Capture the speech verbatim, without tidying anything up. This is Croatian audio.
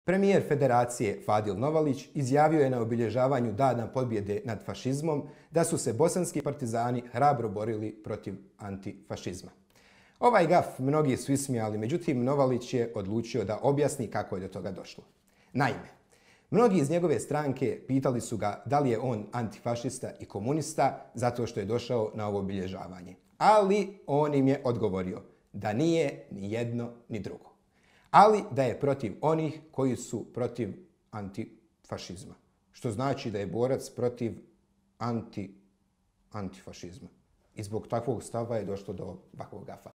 Premijer Federacije Fadil Novalić izjavio je na obilježavanju Dana pobjede nad fašizmom da su se bosanski partizani hrabro borili protiv antifašizma. Ovaj gaf mnogi su ismijali, međutim Novalić je odlučio da objasni kako je do toga došlo. Naime, mnogi iz njegove stranke pitali su ga da li je on antifašista i komunista zato što je došao na ovo obilježavanje. Ali on im je odgovorio da nije ni jedno ni drugo. Ali da je protiv onih koji su protiv antifašizma. Što znači da je borac protiv anti, antifašizma. I zbog takvog stava je došlo do ovakvog gafa.